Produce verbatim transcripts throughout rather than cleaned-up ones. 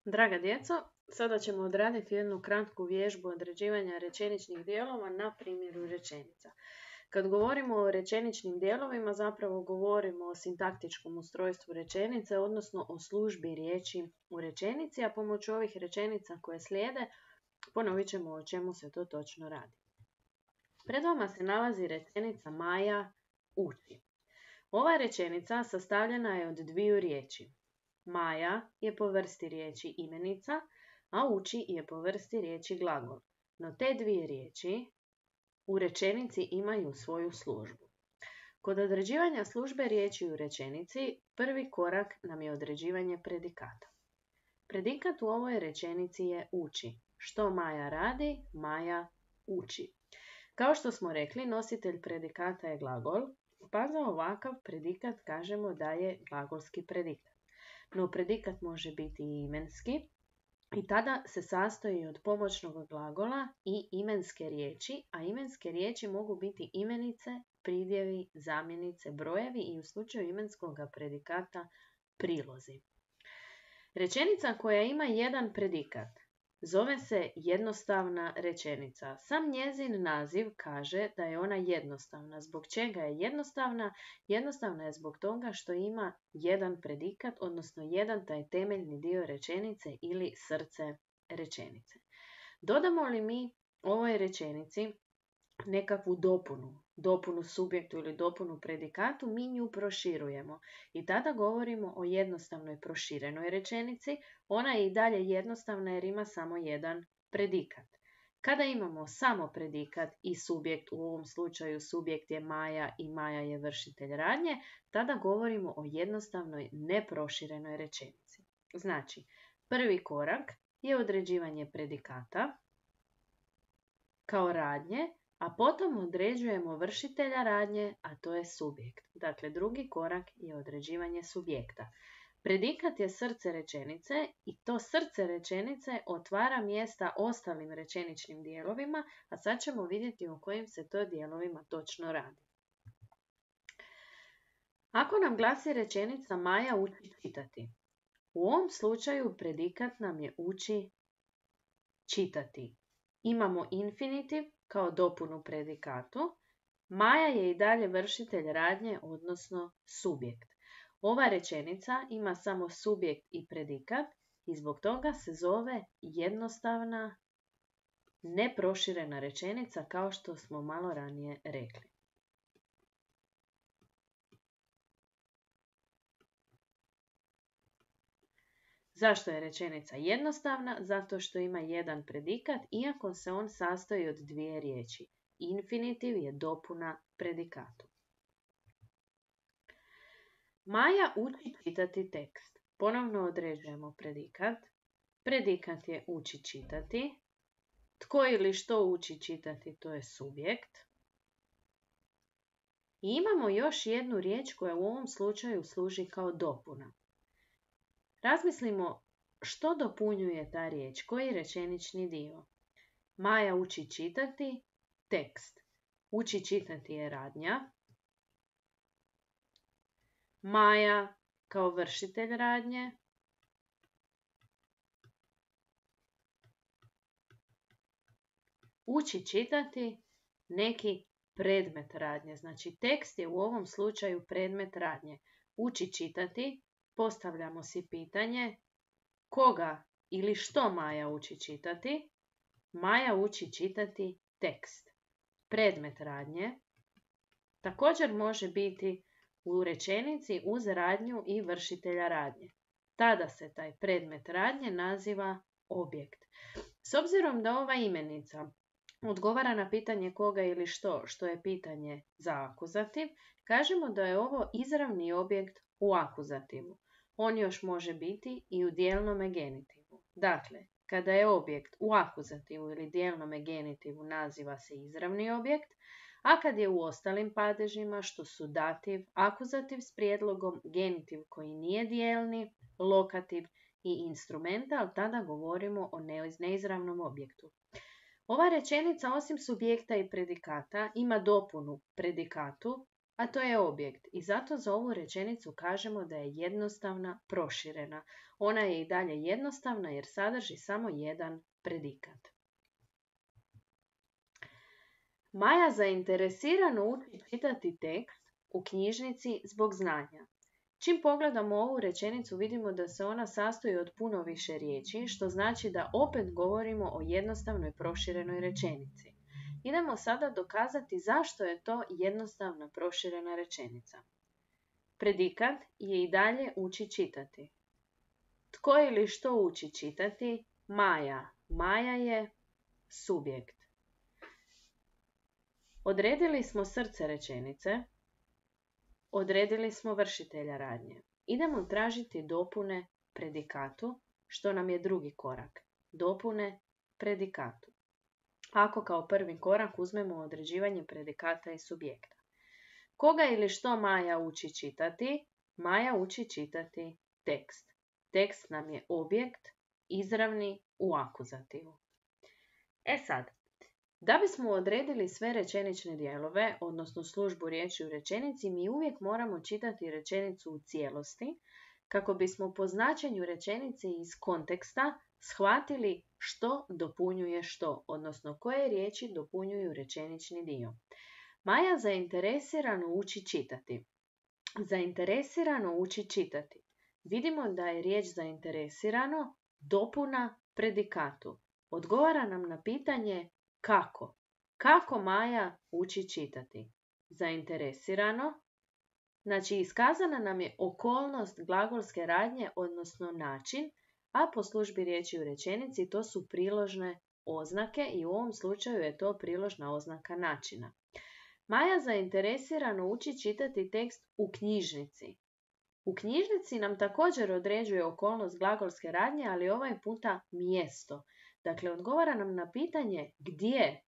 Draga djeco, sada ćemo odraditi jednu kratku vježbu određivanja rečeničnih dijelova na primjeru rečenica. Kad govorimo o rečeničnim dijelovima, zapravo govorimo o sintaktičkom ustrojstvu rečenice, odnosno o službi riječi u rečenici, a pomoću ovih rečenica koje slijede ponovit ćemo o čemu se to točno radi. Pred vama se nalazi rečenica Maja uči. Ova rečenica sastavljena je od dviju riječi. Maja je po vrsti riječi imenica, a uči je po vrsti riječi glagol. No te dvije riječi u rečenici imaju svoju službu. Kod određivanja službe riječi u rečenici, prvi korak nam je određivanje predikata. Predikat u ovoj rečenici je uči. Što Maja radi? Maja uči. Kao što smo rekli, nositelj predikata je glagol, pa za ovakav predikat kažemo da je glagolski predikat. No predikat može biti i imenski i tada se sastoji od pomoćnog glagola i imenske riječi, a imenske riječi mogu biti imenice, pridjevi, zamjenice, brojevi i u slučaju imenskog predikata prilozi. Rečenica koja ima jedan predikat zove se jednostavna rečenica. Sam njezin naziv kaže da je ona jednostavna. Zbog čega je jednostavna? Jednostavna je zbog toga što ima jedan predikat, odnosno jedan taj temeljni dio rečenice ili srce rečenice. Dodamo li mi ovoj rečenici nekakvu dopunu, dopunu subjektu ili dopunu predikatu, mi nju proširujemo i tada govorimo o jednostavnoj proširenoj rečenici. Ona je i dalje jednostavna jer ima samo jedan predikat. Kada imamo samo predikat i subjekt, u ovom slučaju subjekt je Maja i Maja je vršitelj radnje, tada govorimo o jednostavnoj neproširenoj rečenici. Znači, prvi korak je određivanje predikata kao radnje, a potom određujemo vršitelja radnje, a to je subjekt. Dakle, drugi korak je određivanje subjekta. Predikat je srce rečenice i to srce rečenice otvara mjesta ostalim rečeničnim dijelovima, a sad ćemo vidjeti o kojim se to dijelovima točno radi. Ako nam glasi rečenica Maja uči čitati, u ovom slučaju predikat nam je uči čitati. Imamo infinitiv kao dopunu predikatu. Maja je i dalje vršitelj radnje, odnosno subjekt. Ova rečenica ima samo subjekt i predikat i zbog toga se zove jednostavna, neproširena rečenica, kao što smo malo ranije rekli. Zašto je rečenica jednostavna? Zato što ima jedan predikat, iako se on sastoji od dvije riječi. Infinitiv je dopuna predikatu. Maja uči čitati tekst. Ponovno određujemo predikat. Predikat je uči čitati. Tko ili što uči čitati, to je subjekt. I imamo još jednu riječ koja u ovom slučaju služi kao dopuna. Razmislimo što dopunjuje ta riječ, koji rečenični dio. Maja uči čitati tekst. Uči čitati je radnja. Maja kao vršitelj radnje. Uči čitati neki predmet radnje. Znači tekst je u ovom slučaju predmet radnje. Uči čitati. Postavljamo si pitanje koga ili što Maja uči čitati. Maja uči čitati tekst. Predmet radnje također može biti u rečenici uz radnju i vršitelja radnje. Tada se taj predmet radnje naziva objekt. S obzirom da ova imenica odgovara na pitanje koga ili što, što je pitanje za akuzativ, kažemo da je ovo izravni objekt u akuzativu. On još može biti i u dijelnome genitivu. Dakle, kada je objekt u akuzativu ili dijelnome genitivu naziva se izravni objekt, a kad je u ostalim padežima, što su dativ, akuzativ s prijedlogom, genitiv koji nije dijelni, lokativ i instrumental, tada govorimo o neizravnom objektu. Ova rečenica osim subjekta i predikata ima dopunu predikatu, a to je objekt. I zato za ovu rečenicu kažemo da je jednostavna, proširena. Ona je i dalje jednostavna jer sadrži samo jedan predikat. Maja zainteresirano uči čitati tekst u knjižnici zbog znanja. Čim pogledamo ovu rečenicu vidimo da se ona sastoji od puno više riječi, što znači da opet govorimo o jednostavnoj proširenoj rečenici. Idemo sada dokazati zašto je to jednostavna proširena rečenica. Predikat je i dalje uči čitati. Tko ili što uči čitati? Maja. Maja je subjekt. Odredili smo srce rečenice. Odredili smo vršitelja radnje. Idemo tražiti dopune predikatu, što nam je drugi korak. Dopune predikatu. Ako kao prvi korak uzmemo određivanje predikata i subjekta. Koga ili što Maja uči čitati? Maja uči čitati tekst. Tekst nam je objekt, izravni u akuzativu. E sad, da bismo odredili sve rečenične dijelove, odnosno službu riječi u rečenici, mi uvijek moramo čitati rečenicu u cijelosti, kako bismo po značenju rečenice iz konteksta shvatili što dopunjuje što, odnosno koje riječi dopunjuju rečenični dio. Maja zainteresirano uči čitati. Zainteresirano uči čitati. Vidimo da je riječ zainteresirano dopuna predikatu. Odgovara nam na pitanje kako. Kako Maja uči čitati? Zainteresirano. Znači, iskazana nam je okolnost glagolske radnje, odnosno način, a po službi riječi u rečenici to su priložne oznake i u ovom slučaju je to priložna oznaka načina. Maja zainteresirano uči čitati tekst u knjižnici. U knjižnici nam također određuje okolnost glagolske radnje, ali ovaj puta mjesto. Dakle, odgovara nam na pitanje gdje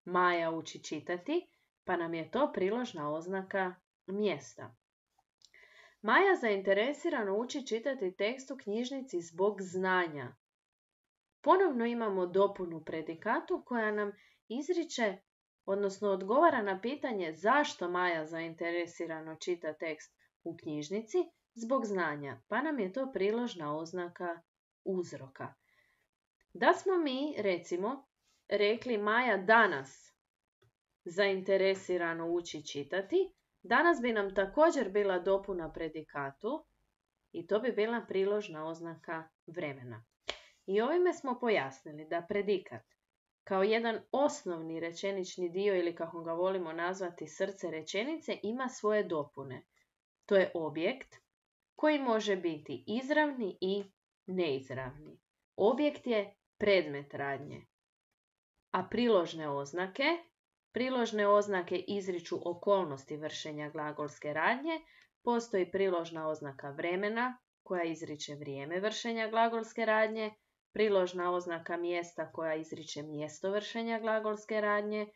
Maja uči čitati, pa nam je to priložna oznaka mjesta. Maja zainteresirano uči čitati tekst u knjižnici zbog znanja. Ponovno imamo dopunu predikatu koja nam izriče, odnosno odgovara na pitanje zašto Maja zainteresirano čita tekst u knjižnici zbog znanja, pa nam je to priložna oznaka uzroka. Da smo mi, recimo, rekli Maja danas zainteresirano uči čitati, danas bi nam također bila dopuna predikatu i to bi bila priložna oznaka vremena. I ovime smo pojasnili da predikat kao jedan osnovni rečenični dio ili kako ga volimo nazvati srce rečenice ima svoje dopune. To je objekt koji može biti izravni i neizravni. Objekt je predmet radnje, a priložne oznake, priložne oznake izriču okolnosti vršenja glagolske radnje, postoji priložna oznaka vremena koja izriče vrijeme vršenja glagolske radnje, priložna oznaka mjesta koja izriče mjesto vršenja glagolske radnje,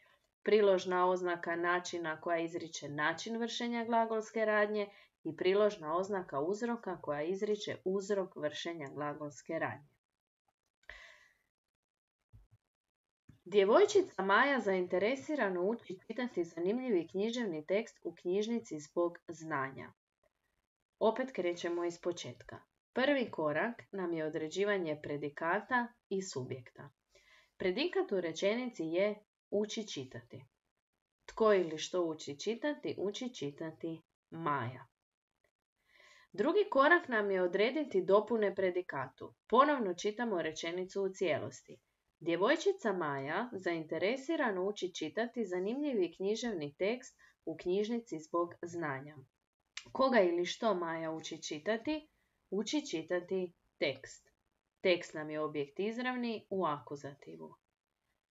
priložna oznaka načina koja izriče način vršenja glagolske radnje i priložna oznaka uzroka koja izriče uzrok vršenja glagolske radnje. Djevojčica Maja zainteresirano uči čitati zanimljivi književni tekst u knjižnici zbog znanja. Opet krećemo iz početka. Prvi korak nam je određivanje predikata i subjekta. Predikat u rečenici je uči čitati. Tko ili što uči čitati? Uči čitati Maja. Drugi korak nam je odrediti dopune predikatu. Ponovno čitamo rečenicu u cijelosti. Djevojčica Maja zainteresirano uči čitati zanimljivi književni tekst u knjižnici zbog znanja. Koga ili što Maja uči čitati? Uči čitati tekst. Tekst nam je objekt izravni u akuzativu.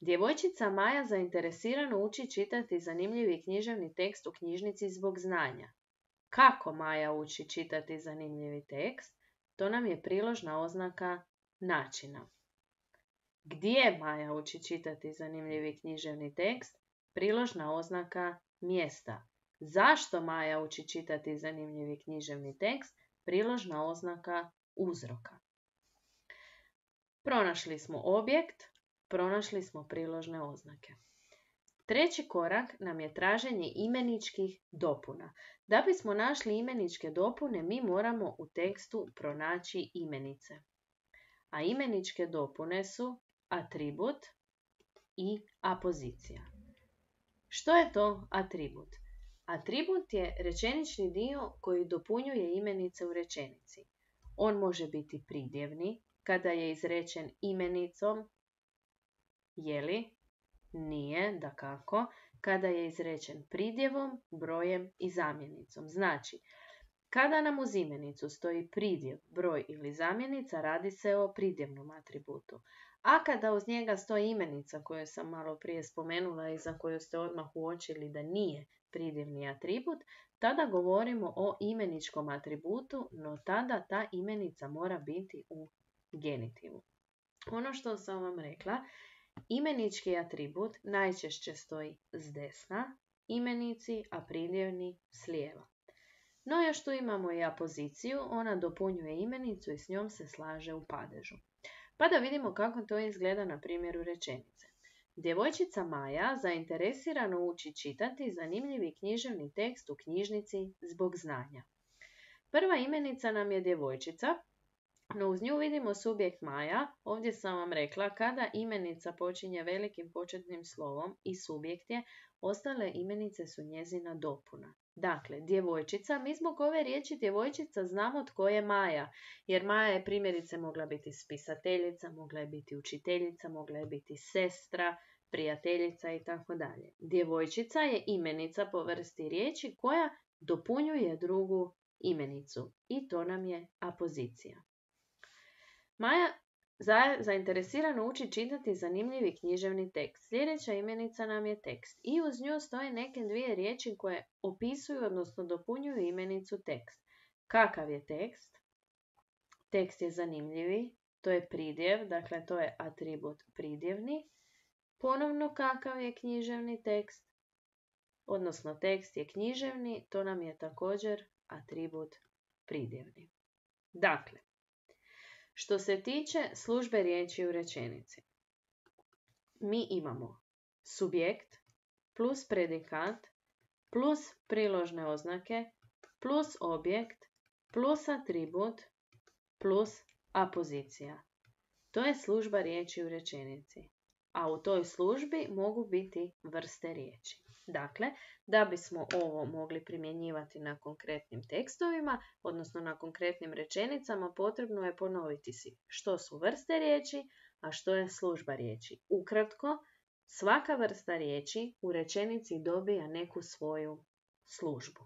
Djevojčica Maja zainteresirano uči čitati zanimljivi književni tekst u knjižnici zbog znanja. Kako Maja uči čitati zanimljivi tekst? To nam je priložna oznaka načina. Gdje Maja uči čitati zanimljivi književni tekst? Priložna oznaka mjesta. Zašto Maja uči čitati zanimljivi književni tekst? Priložna oznaka uzroka. Pronašli smo objekt, pronašli smo priložne oznake. Treći korak nam je traženje imeničkih dopuna. Da bismo našli imeničke dopune, mi moramo u tekstu pronaći imenice. A imeničke dopune su atribut i apozicija. Što je to atribut? Atribut je rečenični dio koji dopunjuje imenice u rečenici. On može biti pridjevni kada je izrečen imenicom, je li? Nije, dakako, kada je izrečen pridjevom, brojem i zamjenicom. Znači, kada nam uz imenicu stoji pridjev, broj ili zamjenica, radi se o pridjevnom atributu. A kada uz njega stoji imenica koju sam malo prije spomenula i za koju ste odmah uočili da nije pridjevni atribut, tada govorimo o imeničkom atributu, no tada ta imenica mora biti u genitivu. Ono što sam vam rekla, imenički atribut najčešće stoji s desna imenici, a pridjevni s lijeva. No još tu imamo i apoziciju, ona dopunjuje imenicu i s njom se slaže u padežu. Pa da vidimo kako to izgleda na primjeru rečenice. Djevojčica Maja zainteresirano uči čitati zanimljivi književni tekst u knjižnici zbog znanja. Prva imenica nam je djevojčica, no uz nju vidimo subjekt Maja. Ovdje sam vam rekla, kada imenica počinje velikim početnim slovom i subjekt je, ostale imenice su njezina dopuna. Dakle, djevojčica, mi zbog ove riječi djevojčica znamo tko je Maja, jer Maja je primjerice mogla biti spisateljica, mogla je biti učiteljica, mogla je biti sestra, prijateljica i tako dalje. Djevojčica je imenica po vrsti riječi koja dopunjuje drugu imenicu i to nam je apozicija. Maja za, zainteresirano uči čitati zanimljivi književni tekst. Sljedeća imenica nam je tekst i uz nju stoje neke dvije riječi koje opisuju, odnosno dopunjuju imenicu tekst. Kakav je tekst? Tekst je zanimljivi, to je pridjev, dakle to je atribut pridjevni. Ponovno kakav je književni tekst? Odnosno tekst je književni, to nam je također atribut pridjevni. Dakle, što se tiče službe riječi u rečenici, mi imamo subjekt plus predikat plus priložne oznake plus objekt plus atribut plus apozicija. To je služba riječi u rečenici, a u toj službi mogu biti vrste riječi. Dakle, da bismo ovo mogli primjenjivati na konkretnim tekstovima, odnosno na konkretnim rečenicama, potrebno je ponoviti si što su vrste riječi, a što je služba riječi. Ukratko, svaka vrsta riječi u rečenici dobija neku svoju službu.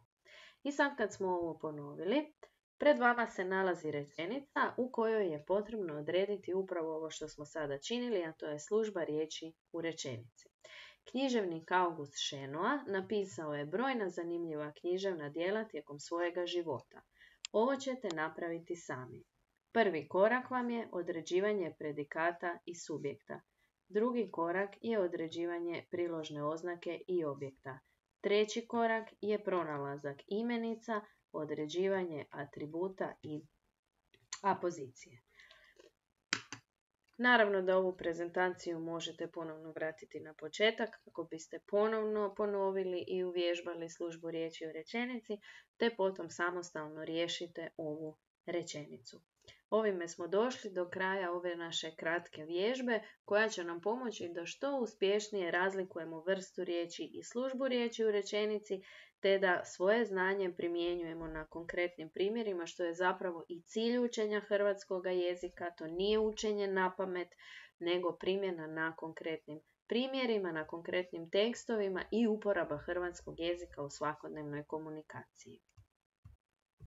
I sad kad smo ovo ponovili, pred vama se nalazi rečenica u kojoj je potrebno odrediti upravo ovo što smo sada činili, a to je služba riječi u rečenici. Književnik August Šenoa napisao je brojna zanimljiva književna djela tijekom svojega života. Ovo ćete napraviti sami. Prvi korak vam je određivanje predikata i subjekta. Drugi korak je određivanje priložne oznake i objekta. Treći korak je pronalazak imenica, određivanje atributa i apozicije. Naravno da ovu prezentaciju možete ponovno vratiti na početak kako biste ponovno ponovili i uvježbali službu riječi u rečenici, te potom samostalno riješite ovu rečenicu. Ovime smo došli do kraja ove naše kratke vježbe koja će nam pomoći da što uspješnije razlikujemo vrstu riječi i službu riječi u rečenici, te da svoje znanje primjenjujemo na konkretnim primjerima, što je zapravo i cilj učenja hrvatskog jezika. To nije učenje napamet, nego primjena na konkretnim primjerima, na konkretnim tekstovima i uporaba hrvatskog jezika u svakodnevnoj komunikaciji.